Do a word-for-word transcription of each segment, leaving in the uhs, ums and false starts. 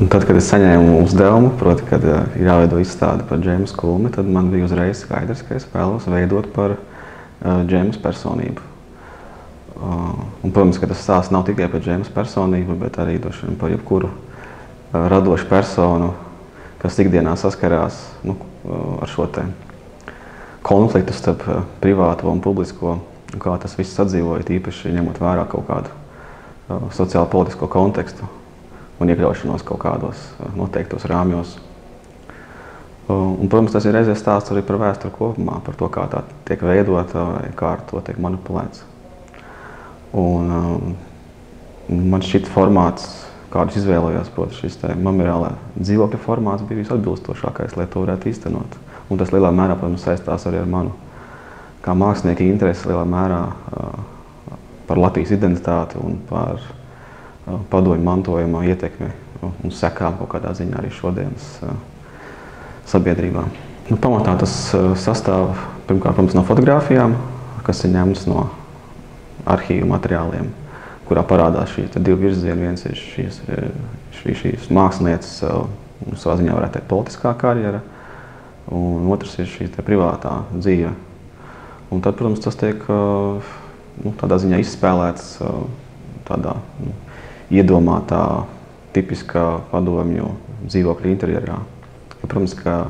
Un tad, kad es saņēmu uzdevumu, proti, kad uh, ir jāveido izstāde par Džeimu Kulmi, tad man bija uzreiz skaidrs, ka es vēlos veidot par uh, Džeimas personību. Uh, un, protams, ka tas stāsts nav tikai par Džeimas personību, bet arī došana par jebkuru uh, radošu personu, kas ikdienā saskarās nu, uh, ar šo te konfliktu starp uh, privāto un publisko, un kā tas viss sadzīvoja, īpaši ņemot vērā kaut kādu uh, sociālo-politisko kontekstu un iekļaušanos kaut kādos noteiktos rāmjos. Un, protams, tas ir reizē stāsts arī par vēsturi kopumā, par to, kā tā tiek veidota vai kā ar to tiek manipulēts. Un man šķita formāts, kādus izvēlējos, proti šis te memoriālā dzīvokļa formāts bija visatbilstošākais, lai to varētu īstenot. Un tas lielā mērā, protams, saistās arī ar manu kā mākslinieka interesi lielā mērā par Latvijas identitāti un par padomju mantojuma ietekmi un sekām kaut kādā ziņā arī šodienas sabiedrībā. Nu, pamatā tas sastāv pirmkārt, protams, no fotogrāfijām, kas ir ņemts no arhīvu materiāliem, kurā parādās šī divi virzieni. Viens ir šīs, šī, šīs mākslinieces, savā ziņā varētu teikt, politiskā karjera, un otrs ir šī privātā dzīve. Un tad, protams, tas tiek nu, tādā ziņā izspēlēts tādā nu, iedomātā, tipiskā padomju dzīvokļa interjerā. Ja, protams, ka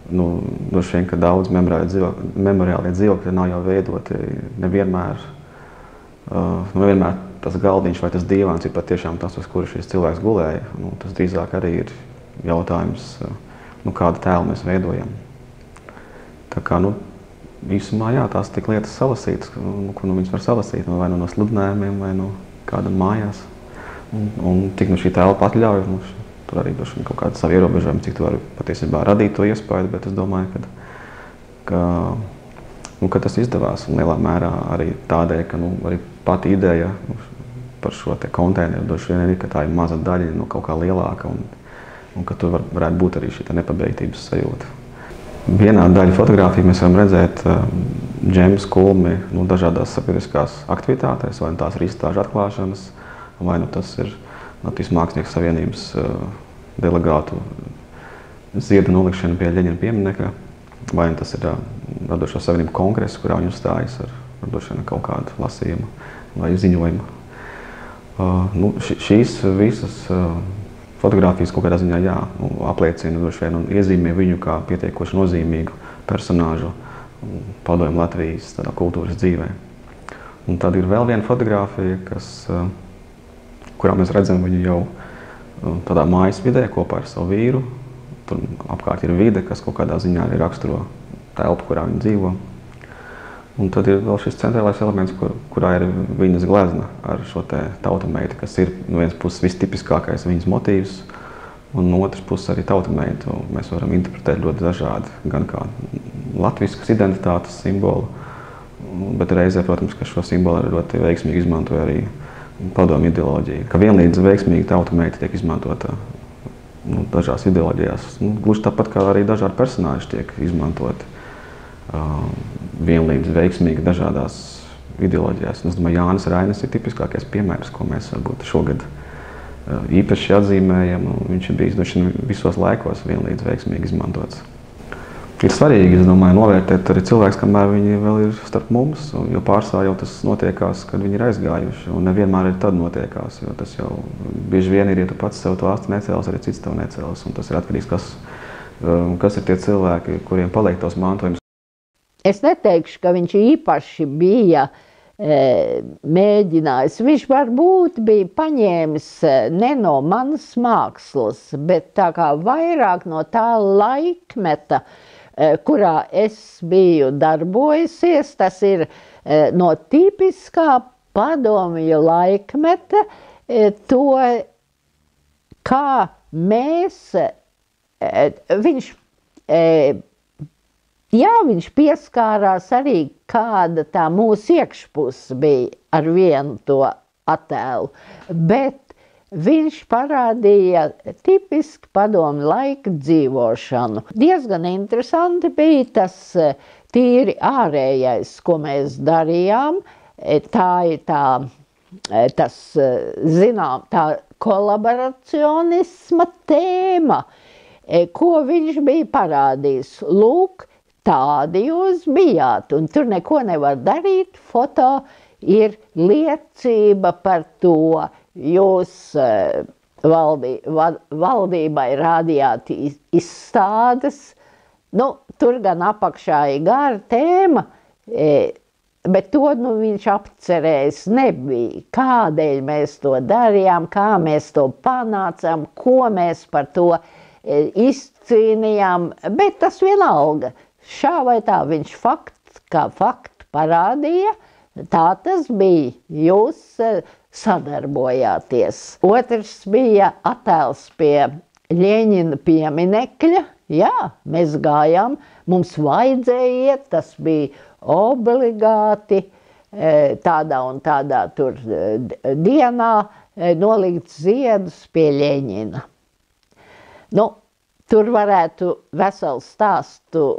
nu, droši vien, ka daudz memoriālie dzīvokļi nav jau veidoti nevienmēr, uh, nevienmēr tas galdiņš vai tas dīvāns ir patiešām tas, uz kura šis cilvēks gulēja. Nu, tas drīzāk arī ir jautājums, uh, nu, kādu tēlu mēs veidojam. Tā kā, nu, īsumā, jā, tās tik lietas salasītas, nu, kur nu viņas var salasīt, vai nu no sludinājumiem, vai no kādam mājās. Un, un cik nu šī telpa atļauj, nu, tur arī doši kaut kāda savu ierobežojumu, cik tu vari patiesībā radīt to iespēju, bet es domāju, ka, ka, nu, ka tas izdevās un lielā mērā arī tādēļ, ka nu, arī pati ideja nu, par šo te konteineru doši vien ir, ka tā ir maza daļa no kaut kā lielāka un, un ka tur var, varētu būt arī šī nepabeigtības sajūta. Vienā daļa fotogrāfiju mēs varam redzēt uh, Džeimas Kulmi nu, dažādās sabiedriskās aktivitātēs, vai tās ir izstāžu atklāšanas, vai nu tas ir Latvijas Mākslinieku savienības uh, delegātu ziedu nolikšana pie Ļeņina pieminekļa, vai nu tas ir uh, radošo savienību kongress, kurā viņi uzstājas ar, ar droši vien kaut kādu lasījumu vai ziņojumu. Uh, nu, š, šīs visas uh, fotogrāfijas kaut kādā ziņā jā, nu, apliecina droši vien un iezīmē viņu kā pietiekoši nozīmīgu personāžu padomju Latvijas tādā kultūras dzīvē. Un tad ir vēl viena fotogrāfija, kas uh, kurā mēs redzam viņu jau tādā mājas vidē kopā ar savu vīru. Tur apkārt ir vide, kas kaut kādā ziņā arī raksturo telpu, kurā viņi dzīvo. Un tad ir vēl šis centrālais elements, kur, kurā ir viņas glezna ar šo te tautameiti, kas ir no vienas puses vistipiskākais viņas motīvs, un no otras puses arī tautameitu mēs varam interpretēt ļoti dažādi, gan kā latviskas identitātes simbolu, bet reizē, protams, ka šo simbolu arī ļoti veiksmīgi izmantoja arī padomju ideoloģija, ka vienlīdz veiksmīgi tautameita tiek izmantota nu, dažās ideoloģijās. Nu, gluži tāpat kā arī dažādi personāži tiek izmantoti uh, vienlīdz veiksmīgi dažādās ideoloģijās. Un es domāju, Jānis Rainis ir tipiskākais piemērs, ko mēs varbūt šogad uh, īpaši atzīmējam. Viņš ir bijis visos laikos vienlīdz veiksmīgi izmantots. Ir svarīgi, es domāju, novērtēt arī cilvēks, kamēr viņi vēl ir starp mums, jo pārsvarā jau tas notiekās, kad viņi ir aizgājuši, un nevienmēr ir tad notiekās, jo tas jau bieži vien ir, ja tu pats sev to asti necēlis, arī cits tev necēlis, un tas ir atkarīgs, kas, kas ir tie cilvēki, kuriem paliek tos mantojums. Es neteikšu, ka viņš īpaši bija e, mēģinājis, viņš varbūt bija paņēmis ne no manas mākslas, bet tā kā vairāk no tā laikmeta, kurā es biju darbojusies, tas ir no tipiskā padomju laikmeta, to, kā mēs, viņš, jā, viņš pieskārās arī, kāda tā mūsu iekšpuse bija ar vienu to attēlu, bet viņš parādīja tipiski padomju laika dzīvošanu. Diezgan interesanti bija tas tīri ārējais, ko mēs darījām. Tā ir tā, tas, zinām, tā kolaboracionisma tēma, ko viņš bija parādījis. Lūk, tādi jūs bijāt, un tur neko nevar darīt. Foto ir liecība par to. Jūs valdī, valdībai rādījāt izstādes. Nu, tur gan apakšā ir gara tēma, bet to nu, viņš apcerējis nebija. Kādēļ mēs to darījām, kā mēs to panācām, ko mēs par to izcīnījām, bet tas vienalga. Šā vai tā viņš fakts, kā faktu parādīja, tā tas bija. Jūs sadarbojāties. Otrs bija attēls pie Ļeņina pieminekļa. Jā, mēs gājām, mums vajadzēja iet, tas bija obligāti tādā un tādā tur dienā nolikt ziedus pie Ļeņina. Nu, tur varētu veselu stāstu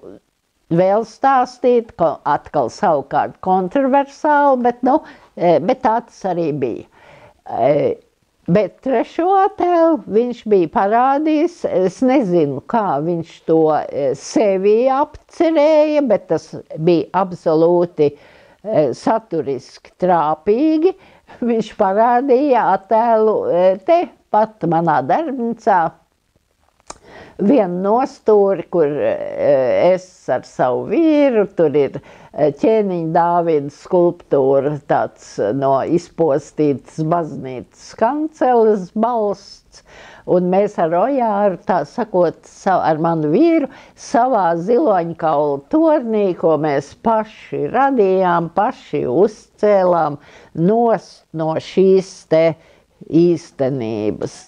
vēl stāstīt, atkal savukārt kontroversāli, bet, nu, bet tā tas arī bija. Bet trešo attēlu viņš bija parādījis, es nezinu, kā viņš to sevi apcerēja, bet tas bija absolūti saturiski trāpīgi. Viņš parādīja attēlu te pat manā darbnīcā. Vienu nostūri, kur es ar savu vīru, tur ir ķēniņa Dāvida skulptūra, tāds no izpostītas baznīcas kanceles balsts, un mēs ar Ojāru, tā sakot, ar manu vīru, savā ziloņkaula tornī, ko mēs paši radījām, paši uzcēlām nost no šīs te īstenības.